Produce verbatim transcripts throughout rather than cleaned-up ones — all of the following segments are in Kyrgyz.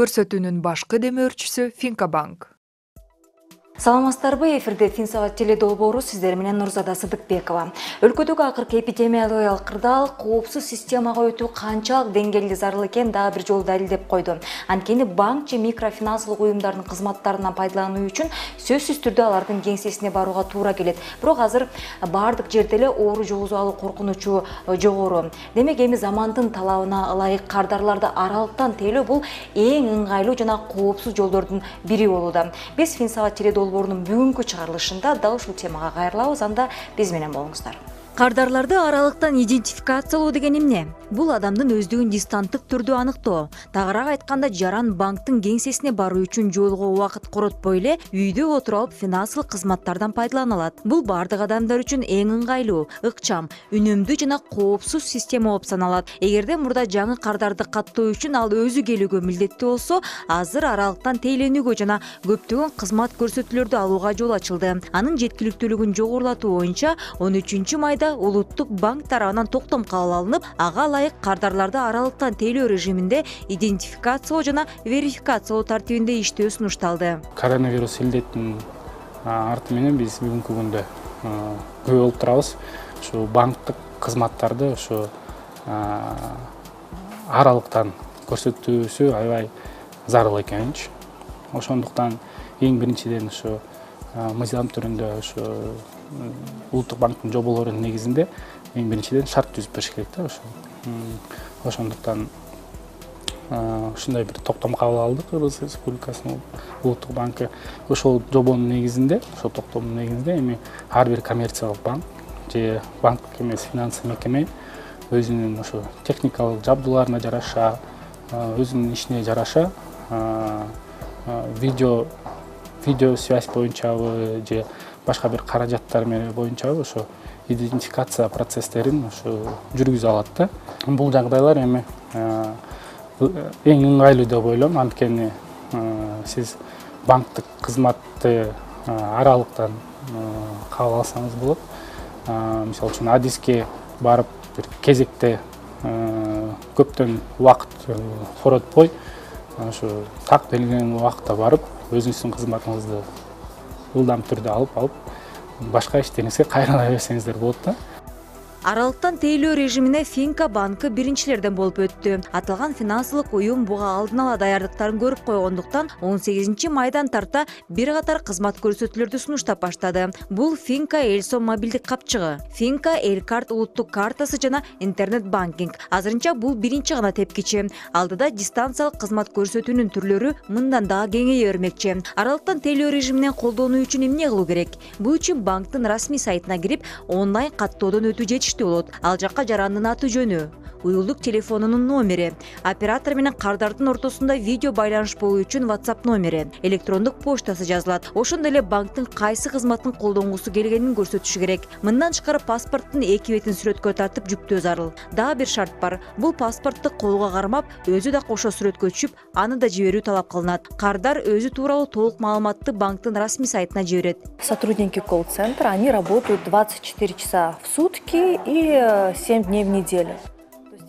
көрсөтүүнүн башкы демөөрчүсү Финкабанк. Саламатсыздарбы, эфирде Финсабат теледолбоору сиздер менен Нурзада Сыдыкбекова. Өлкөдөгү акыркы эпидемиологиялык кырдаал коопсуз системага өтүү канчалык деңгээлде зарыл экен дагы бир жолу далилдеп койду. Анткени банк же микрофинансылык уюмдардын кызматтарынан пайдалануу үчүн сөзсүз түрдө алардын кеңсесине барууга туура келет. Бирок азыр баардык жерде эле оору жугузуп алуу коркунучу жогору. Демек эми замандын талабына ылайык кардарларды аралыктан тейлөө бул эң ыңгайлуу жана коопсуз жолдордун бири болууда. Биз Финсабат теледолбоорунун бүгүнкү чыгарылышында дал ушул темага кайрылабыз. Анда биз менен болуңуздар. Кардарларды аралыктан идентификациялоо деген эмне? Бул адамдын өздүгүн дистанттык түрдө аныктоо. Тагыраак айтканда, жаран банктын кеңсесине баруу үчүн жолго убакыт коротпой эле үйдө отуруп алып финансылык кызматтардан пайдалана алат. Бул бардык адамдар үчүн эң ыңгайлуу, ыкчам, үнөмдүү жана коопсуз система болуп саналат. Эгерде мурда жаңы кардарды каттоо үчүн ал өзү келүүгө милдеттүү болсо, азыр аралыктан тейлөнүүгө жана көптөгөн кызмат көрсөтүүлөрдү алууга жол ачылды. Анын жеткиликтүүлүгүн жогорулатуу боюнча он үчүнчү майда Улуттук банк тарабынан токтом кабыл алынып, ага ылайык кардарларды аралыктан тейлөө режиминде идентификациялоо жана верификациялоо тартибинде иштөө сунушталды. Коронавирус илдеттин арты менен биз бүгүнкү күндө күбө болуп турабыз. Ушу банктык кызматтарды ушу аралыктан көрсөтүүсү аябай зарыл экенинчи. Ошондуктан эң биринчиден ушу мыйзам түрүндө ушу Улуттук банктын жоболорунун негизинде эң биринчиден шарт түзүп бериш керек да. Ошондуктан ушундай бир токтом кабыл алды Кыргыз Республикасынын Улуттук банкы. Ошол жобонун негизинде, ошол токтомдун негизинде эми ар бир коммерциялык банк же банктык эмес финансы мекеме өзүнүн ошо техникалык жабдууларына жараша, өзүнүн ишине жараша видео видео связь боюнчабы же башка бир каражаттар менен боюнчабы ошо идентификация процесстерин ошо жүргүзө алат да. Бул жагдайлар эми эң ыңгайлуу деп ойлойм, анткени сиз банктык кызматты аралыктан кабыл алсаңыз болот. Мисалы үчүн адиске барып бир кезекте көптөн убакыт коротпой, ошо так белгиленген убакытта барып өзүңүздүн кызматыңызды ылдам түрдө алып алып башка иштериңизге кайрыла берсеңиздер болот да. Аралыктан тейлөө режимине Финкабанк биринчилерден болуп өттү. Аталган финансылык уюм буга алдын ала даярдыктарын көрүп койгондуктан он сегизинчи майдан тарта бир катар кызмат көрсөтүүлөрдү сунуштап баштады. Бул Финка Элсом мобилдик капчыгы, Финка Элкарт улуттук картасы жана интернет банкинг. Азырынча бул биринчи гана тепкичи. Алдыда дистанциялык кызмат көрсөтүүнүн түрлөрү мындан дагы кеңейе бермекчи. Аралыктан тейлөө режиминен колдонуу үчүн эмне кылуу керек? Бул үчүн банктын расмий сайтына кирип, онлайн каттоодон өтүү жетиштүү болот. Ал жакка жарандын аты жөнү, уюлдук телефонунун номери, оператор менен кардардын ортосунда видео байланыш болуу үчүн WhatsApp номери, электрондук почтасы жазылат. Ошондой эле банктын кайсы кызматын колдонгусу келгенин көрсөтүшү керек. Мындан тышкары паспорттун эки бетин сүрөткө тартып жүктөө зарыл. Дагы бир шарт бар. Бул паспортты колго кармап, өзү да кошо сүрөткө түшүп, аны да жиберүү талап кылынат. Кардар өзү тууралуу толук маалыматты банктын расмий сайтына жиберет. Сотрудники колл-центра, они работают двадцать четыре часа в сутки и семь дней в неделю.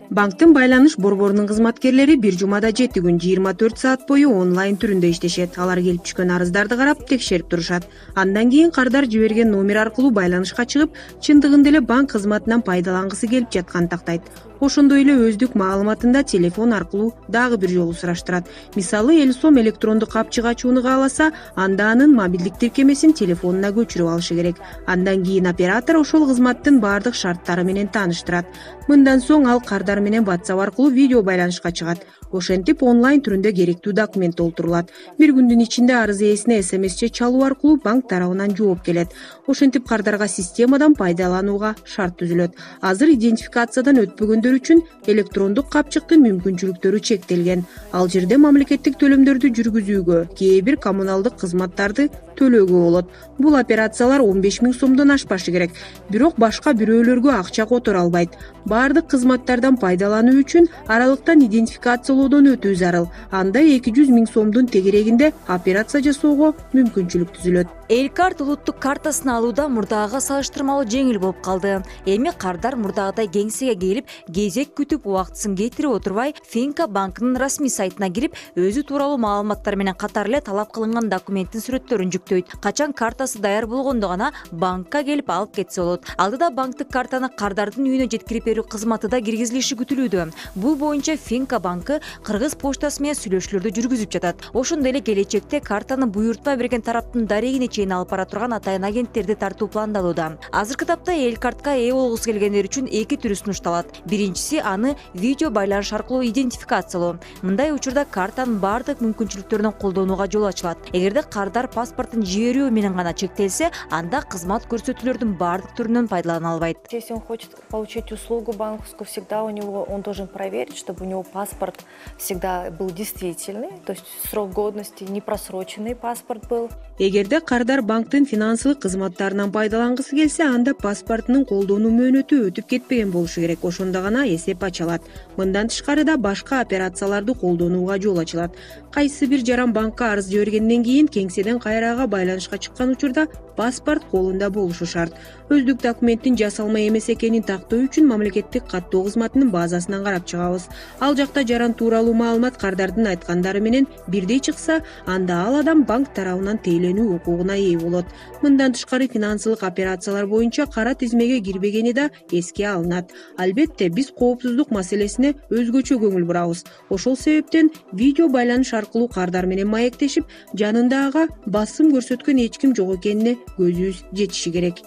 Банктын байланыш борборунун кызматкерлери бир жумада жети күн жыйырма төрт саат бою онлайн түрүндө иштешет. Алар келип түшкөн арыздарды карап, текшерип турушат. Андан кийин кардар жиберген номер аркылуу байланышка чыгып, чындыгында эле банк кызматынан пайдалангысы келип жатканын тактайт. Ошондой эле өздүк маалыматында телефон аркылуу дагы бир жолу сураштырат. Мисалы, Элсом электрондук капчык ачууну кааласа, анда анын мобилдик тиркемесин телефонуна көчүрүп алышы керек. Андан кийин оператор ошол кызматтын бардык шарттары менен тааныштырат. Мындан соң ал кардар менен WhatsApp аркылуу видео байланышка чыгат. Ошентип онлайн түрүндө керектүү документ толтурулат. Бир күндүн ичинде арыз ээсине эс эм эс же чалуу аркылуу банк тарабынан жооп келет. Ошентип кардарга системадан пайдаланууга шарт түзүлөт. Азыр идентификациядан өтпөгөндөр үчүн электрондук капчыктын мүмкүнчүлүктөрү чектелген. Ал жерде мамлекеттик төлөмдөрдү жүргүзүүгө, кээ бир коммуналдык кызматтарды төлөөгө болот. Бул операциялар он беш миң сомдон ашпашы керек. Бирок башка бирөөлөргө акча которо албайт. Бардык кызматтардан пайдалануу үчүн аралыктан идентификациялоодон өтүү зарыл. Анда эки жүз миң сомдун тегерегинде операция жасоого мүмкүнчүлүк түзүлөт. Элкарт улуттук картасын алууда мурдагыга салыштырмалуу жеңил болуп калды. Эми кардар мурдагыдай кеңсеге келип, кезек күтүп убактысын кетирип отурбай, Финка банкынын расмий сайтына кирип, өзү тууралуу маалыматтар менен катар эле талап кылынган документтин сүрөттөрүн жүктөйт. Качан картасы даяр болгондо гана банкка келип алып кетсе болот. Алдыда банктык картаны кардардын үйүнө жеткирип берүү кызматы да киргизилиши күтүлүүдө. Бул боюнча Финка банкы Кыргыз почтасы менен сүйлөшүүлөрдү жүргүзүп жатат. Ошондой эле келечекте картаны буйрутма берген тараптын дарегине чейин алып бара турган атайын агенттерди тартуу пландалууда. Азыркы тапта эл картка ээ болгусу келгендер үчүн эки түрү сунушталат. Биринчиси аны видео байланыш аркылуу идентификациялоо. Мындай учурда картанын бардык мүмкүнчүлүктөрүн колдонууга жол ачылат. Эгерде кардар паспортун жиберүү менен гана чектелсе, анда кызмат көрсөтүүлөрдүн бардык түрүнөн пайдалана албайт. Если он хочет получить услугу банковскую, всегда у него он должен проверить, чтобы у него паспорт всегда был действительный, то есть срок годности, не просроченный паспорт был. Эгерде кардар банктын финансылык кызматтарынан пайдалангысы келсе, анда паспортунун колдонуу мөөнөтү өтүп кетпеген болушу керек. Ошондо гана эсеп ача алат. Мындан тышкары да башка операцияларды колдонууга жол ачылат. Кайсы бир жаран банкка арыз жибергенден кийин кеңседен кайрага байланышка чыккан учурда паспорт колунда болушу шарт. Өздүк документтин жасалма эмес экенин тактоо үчүн мамлекеттик каттоо кызматынын базасынан карап чыгабыз. Ал жакта жаран тууралуу маалымат кардардын айткандары менен бирдей чыкса, анда ал адам банк тарабынан тейлөнүү укугуна ээ болот. Мындан тышкары финансылык операциялар боюнча кара тизмеге кирбегени да эске алынат. Албетте, биз коопсуздук маселесине өзгөчө көңүл бурабыз. Ошол себептен видео байланыш аркылуу кардар менен маектешип, жанында ага басым көрсөткөн эч ким жок экенине көзүбүз жетиши керек.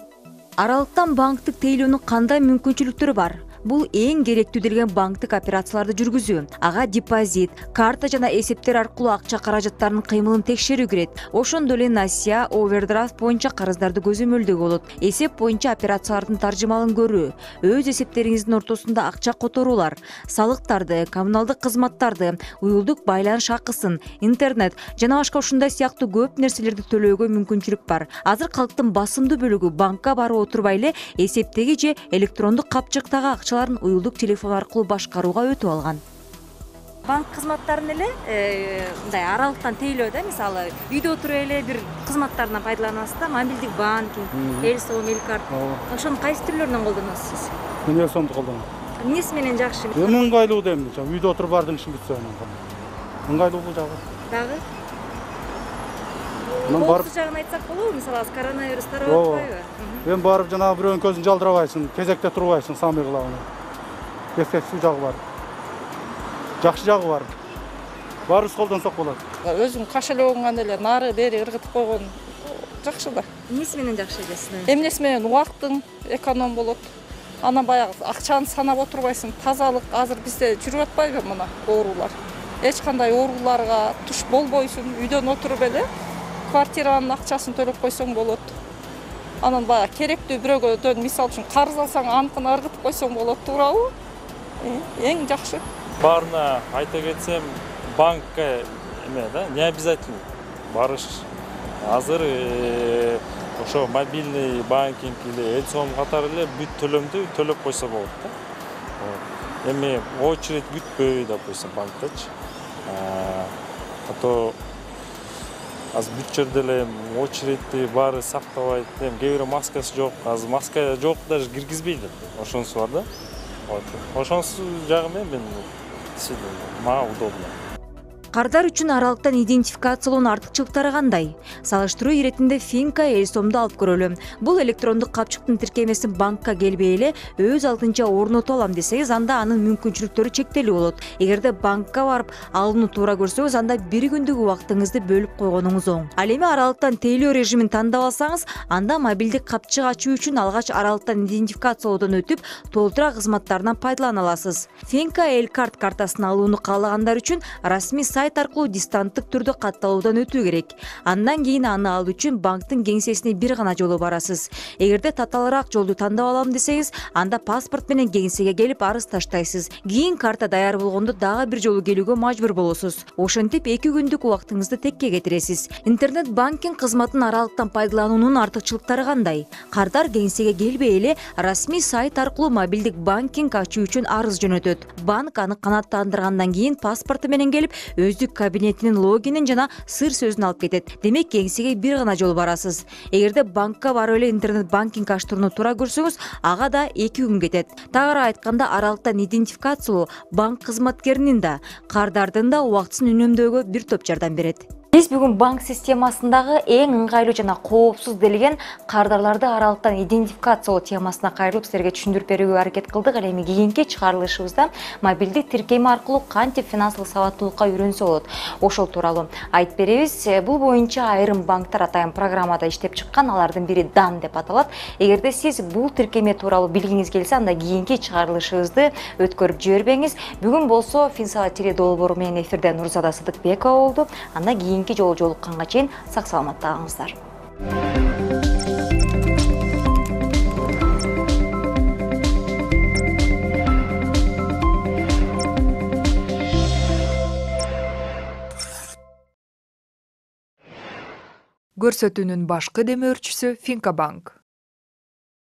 Аралыктан банктык тейлөөнүн кандай мүмкүнчүлүктөрү бар? Бул эң керектүү делген банктык операцияларды жүргүзүү. Ага депозит, карта жана эсептер аркылуу акча каражаттарынын кыймылын текшерүү кирет. Ошондой эле насия, овердрафт боюнча карыздарды көзөмөлдөгө болот. Эсеп боюнча операциялардын таржымалын көрүү, өз эсептериңиздин ортосунда акча которуулар, салыктарды, коммуналдык кызматтарды, уюлдук байланыш акысын, интернет жана башка ушундай сыяктуу көп нерселерди төлөөгө мүмкүнчүлүк бар. Азыр калктын басымдуу бөлүгү банкка барып отурбай эле эсептеги же электрондук капчыктагы акчаларын уюлдук телефон аркылуу башкарууга өтүп алган. Банк кызматтарын эле мындай аралыктан тейлөө да, мисалы үйдө отуруп эле бир кызматтарынан пайдаланасыз да, мобилдик банкинг, элсом, элкарт. Ошонун кайсы түрлөрүнөн колдоносуз сиз? Мен элсомду колдоном. Эмнеси менен жакшы? Эми ыңгайлуу дейм, үйдө отуруп бардык ишин бүтсө анан. Ыңгайлуу бул жагы. Дагы? Мен барып коопсуз жагын айтсак болобу? Мисалы азыр коронавирус тарап атпайбы? Эми барып жана бирөөнүн көзүн жалдырабайсың, кезекте турбайсың, самый главный. Эффектүү жагы бар. Жакшы жагы бар. Баарыбыз колдонсок болот. Өзүң кошелегиңан эле нары бери ыргытып койгон жакшы да. Эмнеси менен жакшы десиз? Эмнеси менен убактың эконом болот. Анан баягы акчаны санап отурбайсың, тазалык. Азыр бизде жүрүп атпайбы мына оорулар. Эч кандай ооруларга туш болбойсуң, үйдөн отуруп эле квартиранын акчасын төлөп койсоң болот. Анан баягы керектүү бирөөгө мисалы үчүн карыз алсаң, аныкын ыргытып койсоң болот, туурабы? Эң жакшы. Баарына айта кетсем, банкка эме да, не обязательно барыш. Азыр ошо мобильный банкинг или элсом катары эле бүт төлөмдү төлөп койсо болот да. Эми очередь күтпөй, допустим, банктачы. А то азыр бүт жерде эле очередти баары сактабайт. Эми кээ бирөө маскасы жок, азыр маска жок даже киргизбейт. Ошонусу бар да. Ошонусу жагы менен мага удобно. Кардар үчүн аралыктан идентификациялоонун артыкчылыктары кандай? Салыштыруу иретинде Финка элсомду алып көрөлү. Бул электрондук капчыктын тиркемесин банкка келбей эле өз алдынча орното алам десеңиз, анда анын мүмкүнчүлүктөрү чектелүү болот. Эгерде банкка барып алууну туура көрсөңүз, анда бир күндүк убактыңызды бөлүп койгонуңуз оң. Ал эми аралыктан тейлөө режимин тандап алсаңыз, анда мобилдик капчык ачуу үчүн алгач аралыктан идентификациялоодон өтүп, толтура кызматтарынан пайдалана аласыз. Финка элкарт картасын алууну каалагандар үчүн расмий сайт аркылуу дистанттык түрдө катталуудан өтүү керек. Андан кийин аны алуу үчүн банктын кеңсесине бир гана жолу барасыз. Эгерде татаалыраак жолду тандап алам десеңиз, анда паспорт менен кеңсеге келип арыз таштайсыз. Кийин карта даяр болгондо дагы бир жолу келүүгө мажбур болосуз. Ошентип эки күндүк убактыңызды текке кетиресиз. Интернет банкинг кызматын аралыктан пайдалануунун артыкчылыктары кандай? Кардар кеңсеге келбей эле расмий сайт аркылуу мобилдик банкинг ачуу үчүн арыз жөнөтөт. Банк аны канааттандыргандан кийин паспорту менен келип өздүк кабинетинин логинин жана сыр сөзүн алып кетет. Демек кеңсеге бир гана жол барасыз. Эгерде банкка барып эле интернет банкинг ачтырууну туура көрсөңүз, ага да эки күн кетет. Тагыраак айтканда, аралыктан идентификациялоо банк кызматкеринин да, кардардын да убактысын үнөмдөөгө бир топ жардам берет. Биз бүгүн банк системасындагы эң ыңгайлуу жана коопсуз делген кардарларды аралыктан идентификациялоо темасына кайрылып силерге түшүндүрүп берүүгө аракет кылдык. Ал эми кийинки чыгарылышыбызда мобилдик тиркеме аркылуу кантип финансылык сабаттуулукка үйрөнсө болот, ошол тууралуу айтып беребиз. Бул боюнча айрым банктар атайын программада иштеп чыккан, алардын бири дан деп аталат. Эгерде сиз бул тиркеме тууралуу билгиңиз келсе, анда кийинки чыгарылышыбызды өткөрүп жибербеңиз. Бүгүн болсо Финсала теле долбоору менен эфирде Нурзада Сыдыкбекова болду. Анда кийинки жолу жолукканга чейин сак саламатта калыңыздар. Көрсөтүүнүн башкы демөөрчүсү Финка банк.